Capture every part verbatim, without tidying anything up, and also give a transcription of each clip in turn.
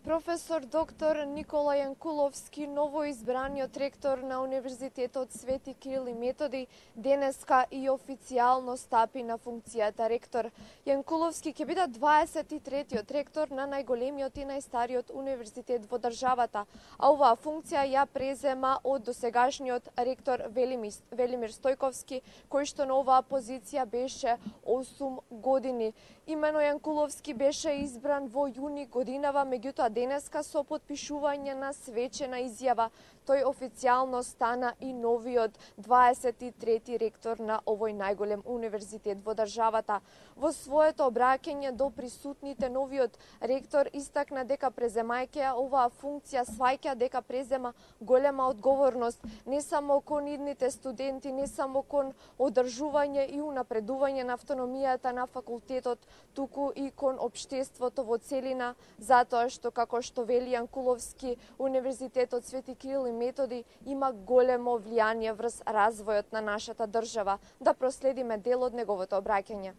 Професор доктор Никола Јанкуловски, новоизбраниот ректор на Универзитетот Свети Кирил и Методи, денеска и официјално стапи на функцијата ректор. Јанкуловски ќе биде дваесет и третиот ректор на најголемиот и најстариот универзитет во државата, а оваа функција ја презема од досегашниот ректор Велимир Стојковски, кој што на оваа позиција беше осум години. Имено Јанкуловски беше избран во јуни годинава, меѓутоа денеска со потпишување на свечена изјава тој официјално стана и новиот дваесет и трети ректор на овој најголем универзитет во државата. Во своето обраќање до присутните, новиот ректор истакна дека преземајќи ја оваа функција сваќа дека презема голема одговорност не само кон идните студенти, не само кон одржување и унапредување на автономијата на факултетот, туку и кон општеството во целина, затоа што, како што вели Јанкуловски, Универзитетот Свети Кирил и Методи има големо влијание врз развојот на нашата држава. Да проследиме дел од неговото обраќање.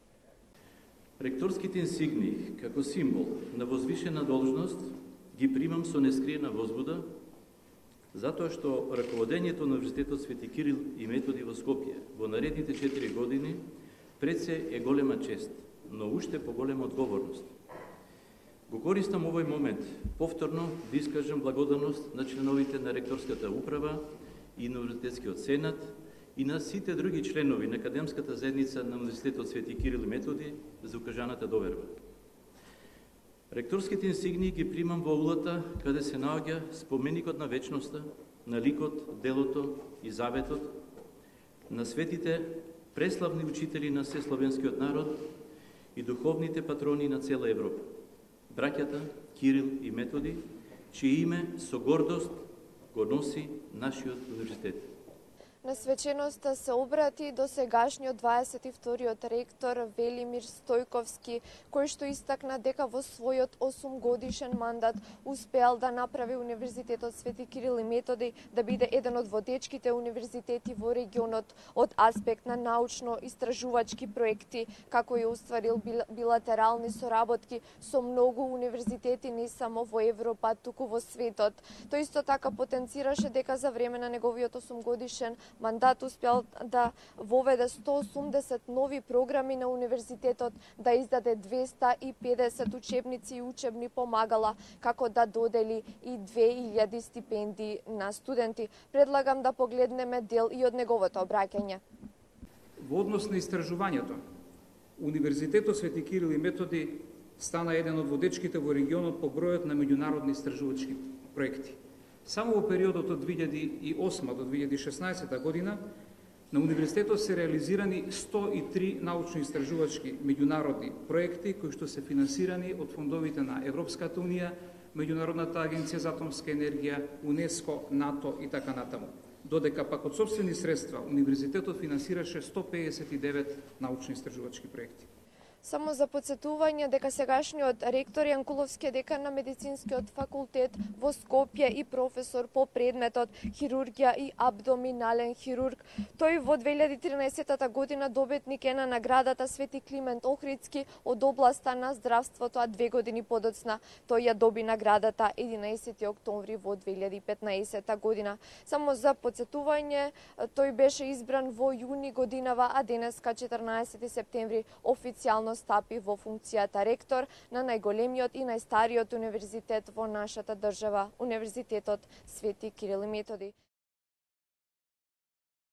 Ректорските инсигни, како символ на возвишена должност, ги примам со нескриена возбуда, затоа што раководењето на Универзитетот Свети Кирил и Методи во Скопје во наредните четири години пред се е голема чест, но уште поголема одговорност. Го користам овој момент повторно да искажам благодарност на членовите на ректорската управа и на Универзитетскиот сенат и на сите други членови на академската заедница на Универзитетот Свети Кирил и Методи за укажаната доверба. Ректорските инсигнии ги примам во улата каде се наоѓа споменикот на вечноста, на ликот, делото и заветот на светите преславни учители на сесловенскиот народ и духовните патрони на цела Европа, браќата Кирил и Методи, чие име со гордост го носи нашиот универзитет. На свеченоста се обрати досегашниот дваесет и вториот ректор Велимир Стојковски, кој што истакна дека во својот осумгодишен мандат успеал да направи Универзитетот Свети Кирил и Методи да биде еден од водечките универзитети во регионот од аспект на научно-истражувачки проекти, како и остварил билатерални соработки со многу универзитети не само во Европа, туку во светот. Тој исто така потенцираше дека за време на неговиот осумгодишен мандат успел да воведе сто осумдесет нови програми на универзитетот, да издаде двеста и педесет учебници и учебни помагала, како да додели и две илјади стипендии на студенти. Предлагам да погледнеме дел и од неговото обраќање. Во однос на истражувањето, Универзитетот Свети Кирил и Методи стана еден од водечките во регионот по бројот на меѓународни истражувачки проекти. Само во периодот од две илјади и осма до две илјади и шеснаесета година на универзитетот се реализирани сто и три научно-истражувачки меѓународни проекти кои што се финансирани од фондовите на Европската унија, Меѓународната агенција за атомска енергија, УНЕСКО, НАТО и така натаму. Додека пак од сопствени средства универзитетот финансираше сто педесет и девет научно-истражувачки проекти. Само за подсетување дека сегашниот ректор Јанкуловски е декан на Медицинскиот факултет во Скопје и професор по предметот хирургија и абдоминален хирург. Тој во две илјади и тринаесета година добитник е на наградата Свети Климент Охридски од областа на здравството, а две години подоцна тој ја доби наградата единаесети октомври во две илјади и петнаесета година. Само за подсетување, тој беше избран во јуни годинава, а денеска четрнаесети септември официјално стапи во функцијата ректор на најголемиот и најстариот универзитет во нашата држава, Универзитетот Свети Кирил и Методи.